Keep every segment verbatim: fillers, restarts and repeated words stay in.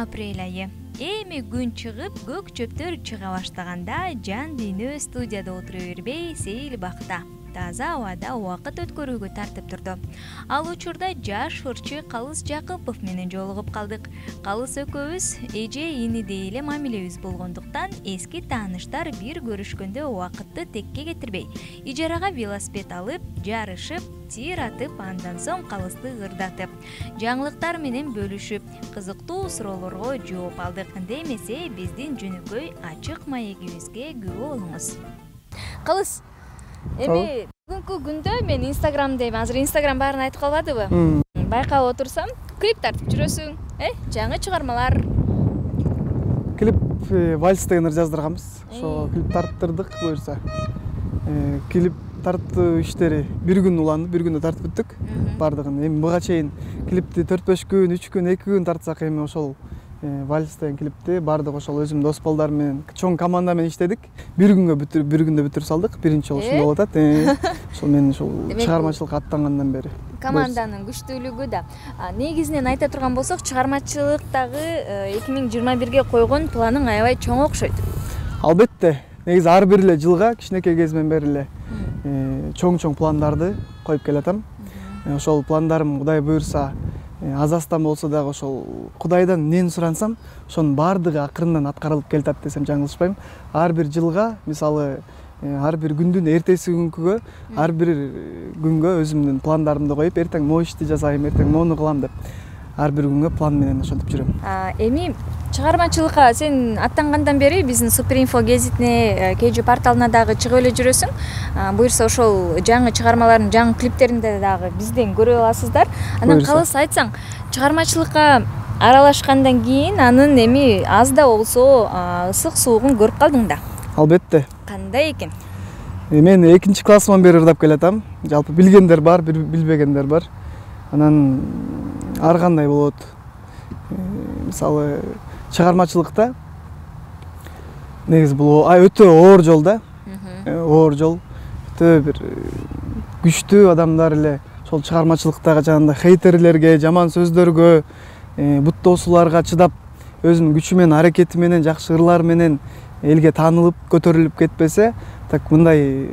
апрель айы. Эми күн чыгып, көк чөптөр чыга баштаганда жан дүйнө студияда отура бербей, сейил бакта, таза абада убакыт өткөрүүгө тартып турду. Ал учурда жаш ырчы Калыс Жакыпов менен жолугуп калдык. Калыс экөөбүз эже инидей эле мамилебиз болгондуктан эски тааныштар бир көрүшкөндө убакытты текке кетирбей, ижарага велосипед алып, жарышып, тир атып, андан соң Калысты ырдатып, жаңылыктар менен бөлүшүп, кызыктуу суроолорго жооп алдык. Анда эмесе биздин жөнөкөй ачык маегибизге күбө болуңуз. Калыс, эми бүгүнкү күндө мен Инстаграмдайм. Азыр Инстаграм баарын айтып калбадыбы? Байкап отурсам, клип тартып жүрөсүң, э? Жаңы чыгармалар. Клип вальс деген жаздырганбыз. Ошо клип тарттырдык буюрса. Клип тартуу иштери бир күн уланды, бир күндө тартып бүттүк бардыгын. Эми буга чейин клипти төрт беш күн, үч күн, эки күн тартсак, эми ошол вальс деген клипти бардык ошол өзүм дос балдар менен, чоң команда менен иштедик. Бир күнгө бүтүрүп, бир күндө бүтүрүп салдык. Биринчи жолу ушундай болуп атат. Ошол мен ушул чыгармачылыкка аттангандан бери. Команданын күчтүүлүгү да. Негизинен айта турган болсок, чыгармачылыктагы эки миң жыйырма бирге койгон планың аябай чоң окшойт. Албетте. Негизи ар бир эле жылга кичинекей кезимден бери эле чоң-чоң пландарды коюп келатам. Ошол пландарым Кудай буйрса аз-аздан болсо дагы ошол Кудайдан эмнени сурансам, ошонун баардыгы акырындан аткарылып келатат десем жаңылышпайм. Ар бир жылга, мисалы, ар бир күндүн эртеси күнгүгө, ар бир күнгө өзүмдүн пландарымды коюп, эртең могу ишти жасайм, эртең мону кылам деп ар бир күнгө план менен ошентип жүрөм. Эми чыгармачылыкка сен аттангандан бери биздин Суперинфо гезитине, кей жөө порталына дагы чыгып эле жүрөсүң. Буюрса ошол жаңы чыгармалардын жаңы клиптеринде дагы бизден көрө аласыздар. Анан Калыс, айтсаң, чыгармачылыкка аралашкандан кийин анын эми аз да болсо ысык суугун көрүп калдың да? Албетте. Кандай экен? Мен экинчи классыман бери ырдап келатам. Жалпы билгендер бар, билбегендер бар. Анан ар кандай болот. Мисалы, чыгармачылыкта негизи бул өтө оор жол да. Оор жол. Өтө бир күчтүү адамдар эле ошол чыгармачылыктагы жанагындай хейтерлерге, жаман сөздөргө, буттоосуларга чыдап, өзүнүн күчү менен, аракети менен, жакшы ырлар менен элге таанылып, көтөрүлүп кетпесе, так мындай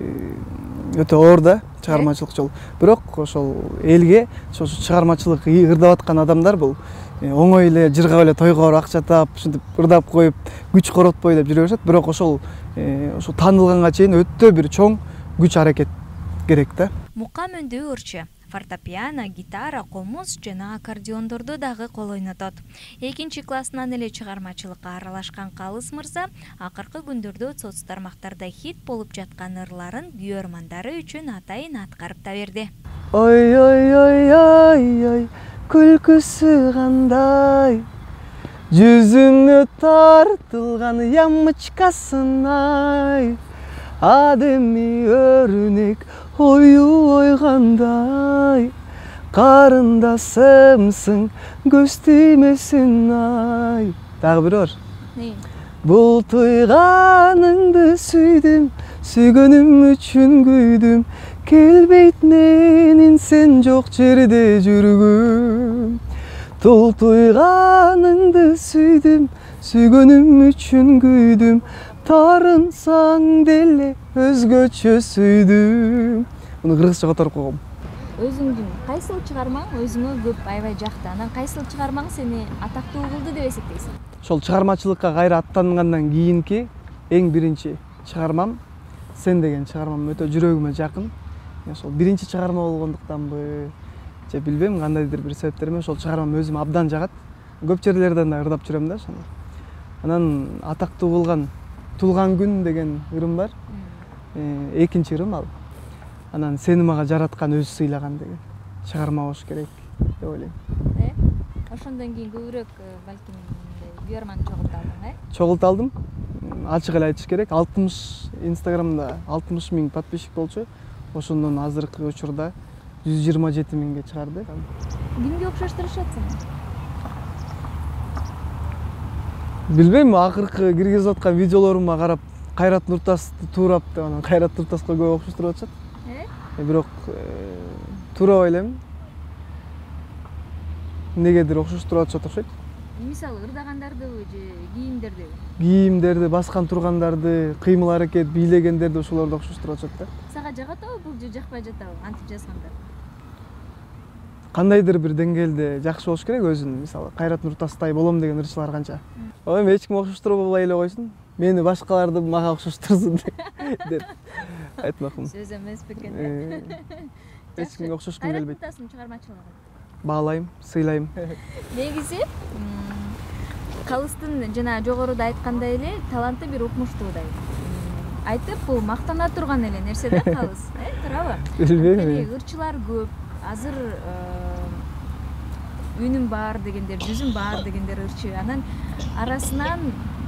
өтө оор да чыгармачылык жол. Бирок ошол элге ошол чыгармачылык ырдап аткан адамдар бул оңой эле жыргап эле тойго барып акча таап, ушинтип ырдап коюп, күч коротпой деп жүрө беришет. Бирок ошол ошол таанылганга чейин өтө бир чоң күч аракет керек да. Мукам өндүү ырчы, фортепиано, гитара, комуз жана аккордеондорду дагы кол ойнотот. Экинчи классынан эле чыгармачылыкка аралашкан Калыс мырза акыркы күндөрдө соц тармактарда хит болуп жаткан ырларын күйөрмандары үчүн атайын аткарып та берди. Ой ой ой ой ой, күлкүсү кандай, жүзүнө тартылган ямычкасынай, адеми өрүнөк ою ойгандай, карындасымсың көз тиймесин ай. Дагы бир бар. Бул туйганыңды сүйдүм, сүйгөнүм үчүн күйдүм, келбейт менин сен жок жерде жүргүм. Тул туйганыңды сүйдүм, сүйгөнүм үчүн күйдүм, тарынсаң деле өзгөчө сүйдүм. Муну кыргызча которуп койгом. Өзүңдүн кайсыл чыгармаң өзүңө көп аябай жакты? Анан кайсыл чыгармаң сени атактуу кылды деп эсептейсиң? Ошол чыгармачылыкка кайра аттангандан кийинки эң биринчи чыгармам Сен деген чыгармам өтө жүрөгүмө жакын. Ошол биринчи чыгарма болгондуктанбы, же билбейм, кандайдыр бир себептер менен ошол чыгармам өзүмө абдан жагат. Көп жерлерден да ырдап жүрөм да ошону. Анан атактуу кылган Тулган күн деген ырым бар. Экинчи ырым ал. Анан Сени мага жараткан өзү сыйлаган деген чыгарма болуш керек деп ойлойм. Э? Ошондон кийин көбүрөөк балким күйөрманы чогулта алдың, э? Чогулта алдым. Ачык эле айтыш керек, алтымыш Инстаграмда алтымыш миң подписчик болчу. Ошондон азыркы учурда жүз жыйырма жети миңге чыгарды. Кимге окшоштурушат сени? Билбейм, акыркы киргизип аткан видеолорума карап Кайрат Нуртасты туурап деп, анан Кайрат Нуртаска көп окшоштуруп атышат. Э? Бирок туура ойлойм. Негедир окшоштуруп атышат окшойт. мисалы ырдагандардыбы же кийимдерди? Кийимдерди, баскан тургандарды, кыймыл аракет, бийлегендерди ошолорду окшоштуруп атышат да. Сага жагатабы бул же жакпай жатабы антип жазганда? Кандайдыр бир деңгээлде жакшы болуш керек өзүн, мисалы Кайрат Нуртастай болом деген ырчылар канча. Эми эч ким окшоштуруп албай эле койсун, мени башкаларды мага окшоштурсун деп айтмакмын. Сөз эмес бекен. Эч кимге окшошкум келбейт. Кайрат Нуртастын чыгармачылыгын Баалайм, сыйлайм. Негизи Калыстын жана жогоруда айткандай эле таланты бир укмуштуудай. Айтып, бул мактана турган эле нерсе да Калыс, э, туурабы? Билбейм. Ырчылар көп. Азыр үнүм бар дегендер, жүзүм бар дегендер ырчы. Анан арасынан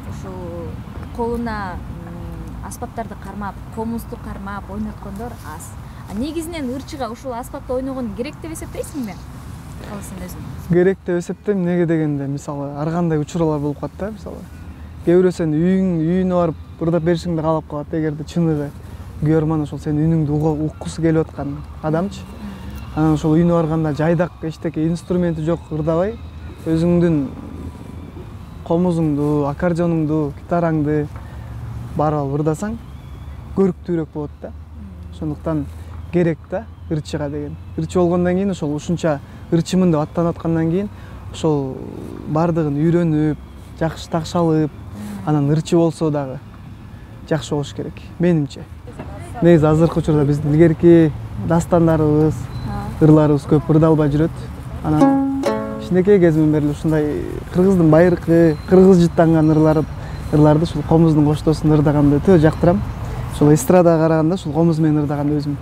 ушул колуна аспаптарды кармап, комузду кармап ойноткондор аз. Негизинен ырчыга ушул аспапта ойногон керек деп эсептейсиңби? Калыстын өзүн. Керек деп эсептейм. Неге дегенде, мисалы, ар кандай учурлар болуп калат да, мисалы. Кээ бирөө сен үйүң, үйүнө барып ырдап беришиңди каалап калат, эгерде чыныгы күйөрман ошол сенин үнүңдү уккусу келип аткан адамчы. Анан ошол үйүнө барганда жайдак эчтеке инструменти жок ырдабай, өзүңдүн комузуңду, аккордеонуңду, гитараңды барып алып ырдасаң, көрүктүүрөөк болот да. Ошондуктан керек да ырчыга деген. Ырчы болгондон кийин ошол ушунча ырчымын деп аттанып аткандан кийин ошол бардыгын үйрөнүп, жакшы такшалып, анан ырчы болсо дагы жакшы болуш керек, менимче. Негизи азыркы учурда биздин илгерки дастандарыбыз, ырларыбыз көп ырдалбай жүрөт. Анан кичинекей кезимден бери ушундай кыргыздын байыркы, кыргыз жыттанган ырлары, ырларды ушул комуздун коштоосунда ырдаганды өтө жактырам. Ушул эстрадага караганда ушул комуз менен ырдаганды өзүм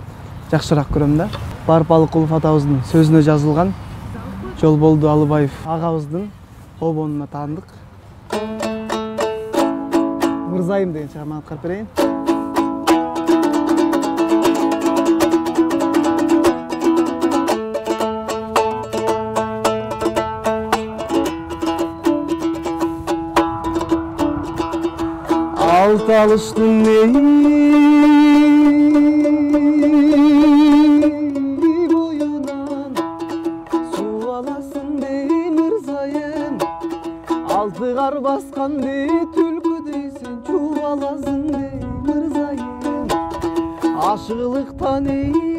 жакшыраак көрөм да. Барып Балыкулов атабыздын сөзүнө жазылган Жолболду Алыбаев агабыздын обонуна таандык. Мырзайым деген чыгарманы аткарып берейин. Алты алыштын боюнан суу аласың дей мырзайым, алты кар баскан дей түлкүдөй сен чубаласың дей мырзайым, ашыгылыктан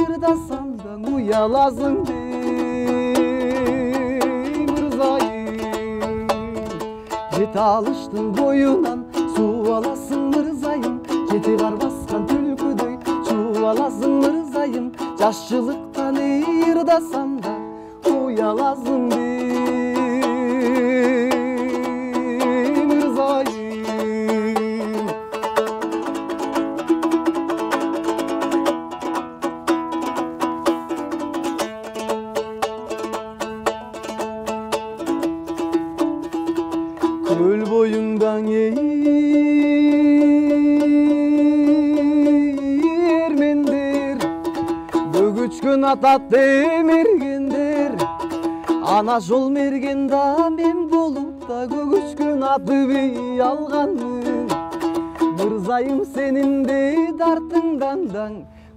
ырдасаң да уяласың дей мырзайым, жети алыштын боюнан суу аласың мырзайым, жети кар баскан түлкүдөй чубаласың мырзайым, жашчылыктан ырдасаң да уяласың дей мырзайым. Көл боюндан эрмендер, бөгүчкөн атат демергендер, ана жол мергенда мен болуп да көгүчкөн аты бий алганмын. Мырзайым сенин де дартыңдан даң,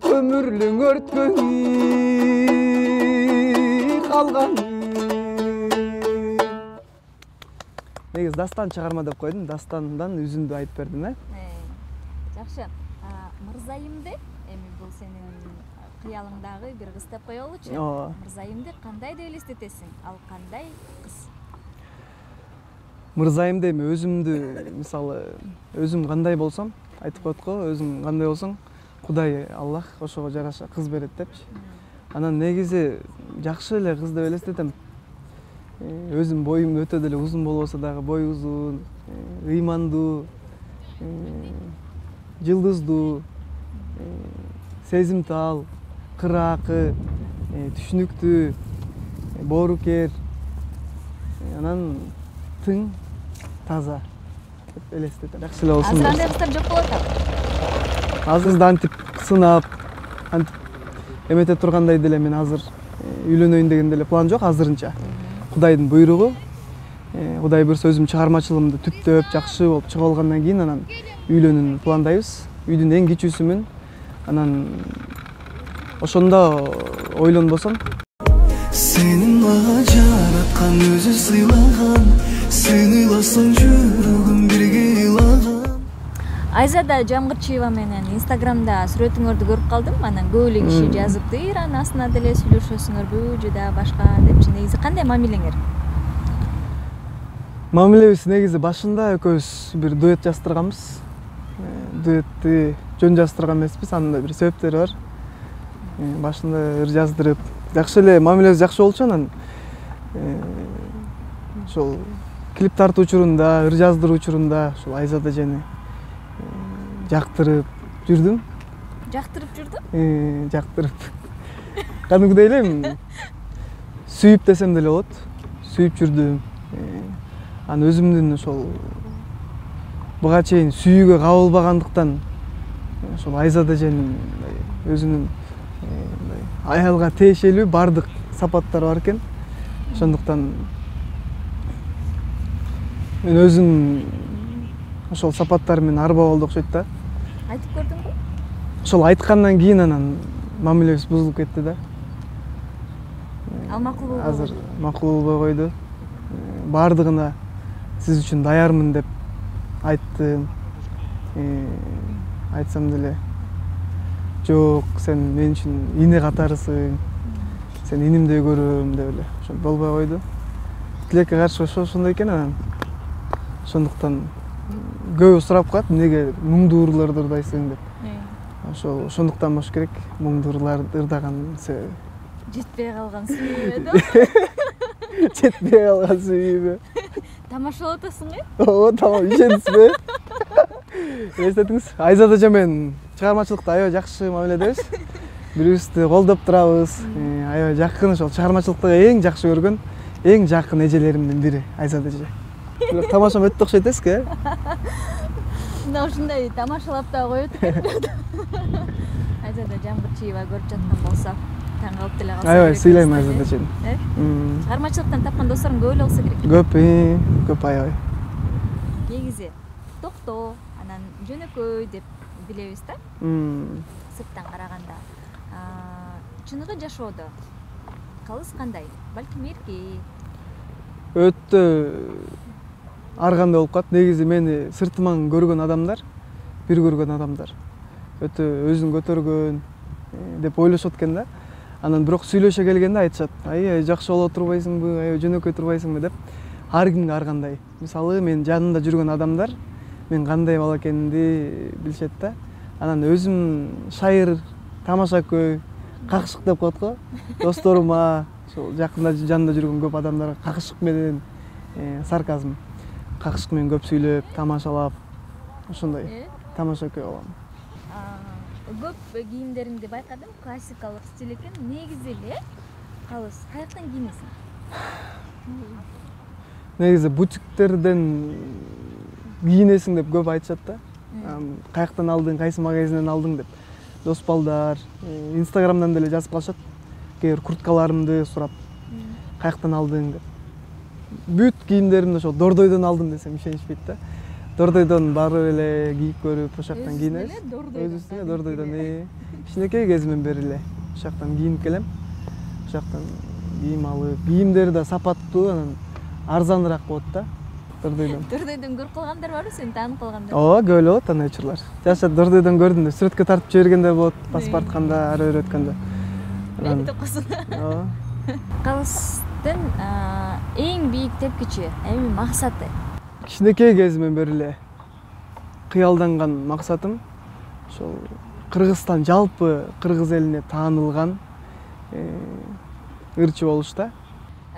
көмүрлүң өрткөнү калганмын. Негиз дастан чыгарма деп койдум, дастандан үзүндү айтып бердим, э? Жакшы. Мырзайымды эми бул сенин кыялыңдагы бир кыз деп коелучу. Мырзайымды кандай деп элестетесиң? Ал кандай кыз? Мырзайымды эми өзүмдү, мисалы, өзүм кандай болсом, айтып коет го, өзүң кандай болсоң, Кудай Аллах ошого жараша кыз берет депчи. Анан негизи жакшы эле кыз деп элестетем. Өзүм боюм өтө деле узун болбосо дагы бой узун, ыймандуу, жылдыздуу, сезимтал, кыраакы, түшүнүктүү, боорукер, анан тың, таза деп элестетем. Жакшы эле болсун. Азыр андай кыздар жок болот атабы? Азыр да антип сынап, антип эмете тургандай деле мен азыр үйлөнөйүн деген деле план жок азырынча. Кудайдын буйругу. Кудай буйрса өзүм чыгармачылыгымды түптөп жакшы болуп чыгып алгандан кийин анан үйлөнүүнү пландайбыз. Үйдүн эң кичүүсүмүн. Анан ошондо ойлонбосом. Сенин мага жараткан өзү сыйлаган сен ыйласаң жүрөгүм бирге ыйлаган. Айзада Жамгырчиева менен Инстаграмда сүрөтүңөрдү көрүп калдым. Анан көп эле киши жазыптыр, анын астына деле сүйлөшөсүңөрбү же да башка депчи. Негизи кандай мамилеңер? Мамилебиз негизи башында экөөбүз бир дуэт жаздырганбыз. Дуэтти жөн жаздырган эмеспиз, анын да бир себептери бар. Башында ыр жаздырып, жакшы эле мамилебиз жакшы болчу, анан ошол клип тартуу учурунда, ыр жаздыруу учурунда ошол Айзада жени жактырып жүрдүм. Жактырып жүрдүм? Э, жактырып. Кадимкидей элем сүйүп десем деле болот. Сүйүп жүрдүм. Анан өзүмдүн ошол буга чейин сүйүүгө кабылбагандыктан ошол Айзада жени өзүнүн аялга тиешелүү бардык сапаттары бар экен. Ошондуктан мен өзүм ошол сапаттар менен арба болду окшойт да. Айтып көрдүңбү? Ошол айткандан кийин анан мамилебиз бузулуп кетти да. Ал макул болбой азыр макул болбой койду. Бардыгына сиз үчүн даярмын деп айттым. Айтсам деле жок, сен мен үчүн ине катарысың, сен инимдей көрөм деп эле ошо болбой койду. Тилекке каршы ошондой экен. Анан ошондуктан көбү сурап калат, эмнеге муңдуу ырларды ырдайсың деп. Ошол ошондуктан болуш керек, муңдуу ырларды ырдаган себеби. Жетпей калган сүйүүбү? Жетпей калган сүйүүбү? Тамашалап атасың э? Ооба, тамам, ишенисизби? Эстетиңиз, Айзада эже менен чыгармачылыкта аябай жакшы мамиледебиз. Бири-бирибизди колдоп турабыз. Аябай жакын, ошол чыгармачылыктагы эң жакшы көргөн, эң жакын эжелеримдин бири Айзада эже. Бирок тамашам өтө окшойт эсизби, э? Мына ушундай тамашалап да коет экен. Айзада Жамгырчиева көрүп жаткан болсо, таң калып деле калса. Аябай сыйлайм Айзада эжени. Э? Чыгармачылыктан тапкан досторум көп эле болсо керек. Көп, көп аябай. Негизи токтоо, анан жөнөкөй деп билебиз да. Сырттан караганда. Чыныгы жашоодо калыс кандай? Балким эрки. Өтө ар кандай болуп калат. Негизи мени сыртыман көргөн адамдар, бир көргөн адамдар өтө өзүн көтөргөн деп ойлошот экен да. Анан бирок сүйлөшө келгенде айтышат, ай жакшы боло турбайсыңбы, ай жөнөкөй турбайсыңбы деп. Ар кимге ар кандай. Мисалы мен жанымда жүргөн адамдар мен кандай бала экенимди билишет да. Анан өзүм шайыр, тамашакөй, какшык деп коет го. Досторума, ошол жакында жанында жүргөн көп адамдарга какшык менен, сарказм, какшык менен көп сүйлөп, тамашалап, ошондой тамашакөй болом. Көп кийимдериңди байкадым, классикалык стиль экен. Негизи эле калыс каяктан кийинесиң? Негизи бутиктерден кийинесиң деп көп айтышат да. Каяктан алдың, кайсы магазинден алдың деп. Дос балдар, Инстаграмдан деле жазып калышат. Кээ бир курткаларымды сурап, каяктан алдың деп. Бүт кийимдеримди ошол Дордойдон алдым десем ишенишпейт да. Дордойдон барып эле кийип көрүп, ошоктон кийинебиз. Өзүбүздүн Дордойдон кичинекей кезимен бери эле ошоктон кийинип келем. Ошоктон кийим алып, кийимдери да сапаттуу, анан арзаныраак болот да. Дордойдон. Дордойдон көрүп калгандар барбы, сени таанып калгандар? Ооба, көп эле болот андай учурлар. Жашап Дордойдон көрдүм деп сүрөткө тартып жибергендер болот, паспорт канда, ары бери өткөндө. Эми токосун. Ооба. Калыстын эң бийик тепкичи, эми максаты? Кичинекей кезимен бери эле кыялданган максатым ошол Кыргызстан жалпы кыргыз элине таанылган ырчы болуш да.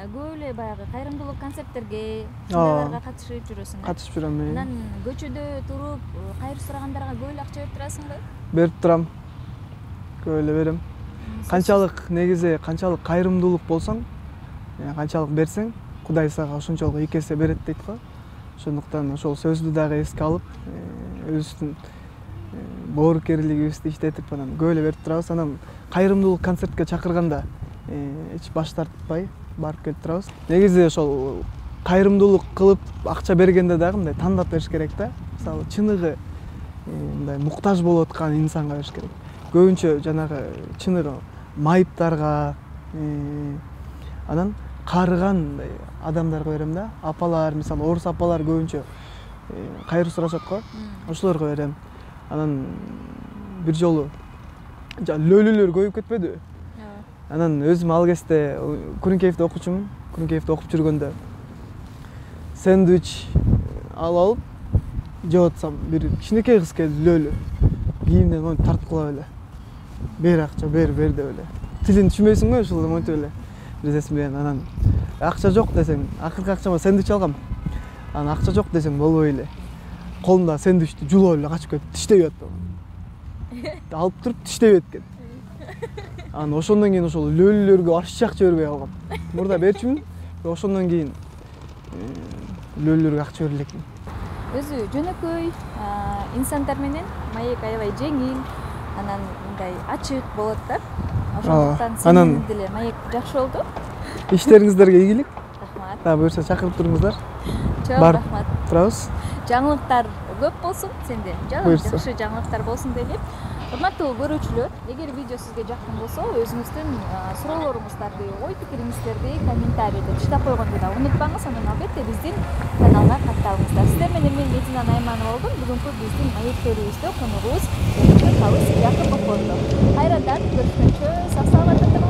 Көп эле баягы кайрымдуулук концерттерге, шундайларга катышып жүрөсүң. Катышып жүрөм мен. Анан көчөдө туруп, кайыр сурагандарга көп эле акча берип турасыңбы? Берип турам. Көп эле берем. Канчалык негизи канчалык кайрымдуулук болсоң, канчалык берсең, Кудай сага ошончолук эки эсе берет дейт го. Ошондуктан ошол сөздү дагы эске алып, өзүбүздүн боорукерлигибизди иштетип, анан көп эле берип турабыз. Анан кайрымдуулук концертке чакырганда эч баш тартпай барып келип турабыз. Негизи ошол кайрымдуулук кылып акча бергенде дагы мындай тандап бериш керек да. Мисалы чыныгы мындай муктаж болуп аткан инсанга бериш керек. Көбүнчө жанагы чыныгы майыптарга, анан карыган мындай адамдарга берем да. Апалар, мисалы орус апалар көбүнчө кайыр сурашат го. Ошолорго берем. Анан бир жолу лөлүлөр көбөйүп кетпедиби? Анан өзүм ал кезде Күрүнкеевде окучумун. Күрүнкеевде окуп жүргөндө сэндвич алып алып жеп атсам, бир кичинекей кыз келди, лөлү. Кийимден монтип тарткылап эле. Бер акча, бер, бер деп эле. Тилин түшүнбөйсүң го, ошол монтип эле. Бирдесин менен анан акча жок десең, акыркы акчама сэндвич алгам. Анан акча жок десең болбой эле. Колунда сэндвичти жулуп эле качып кетип тиштеп атты. Алып туруп тиштеп эткен. Анан ошондон кийин ошол лөлүлөргө аш акча бербей калгам. Мурда берчүмүн, ошондон кийин лөлүлөргө акча бере элекмин. Өзү жөнөкөй инсандар менен маек аябай жеңил, анан мындай ачык болот да. Ошондуктан сенин деле маек жакшы болду. Иштериңиздерге ийгилик. Рахмат. Да, буюрса чакырып туруңуздар. Чоң рахмат. Турабыз. Жаңылыктар көп болсун сенде. Жакшы жаңылыктар болсун деп. Урматтуу көрүүчүлөр, эгер видео сизге жаккан болсо, өзүңүздүн суроолоруңуздарды, ой пикириңиздерди комментарийде таштап койгонду да унутпаңыз. Анан албетте биздин каналга катталыңыздар. Сиздер менен мен Медина Найманова болдум. Бүгүнкү биздин маектөрүбүздө коногубуз Жакып Акопов болду. Кайрадан көрүшкөнчө сак саламатта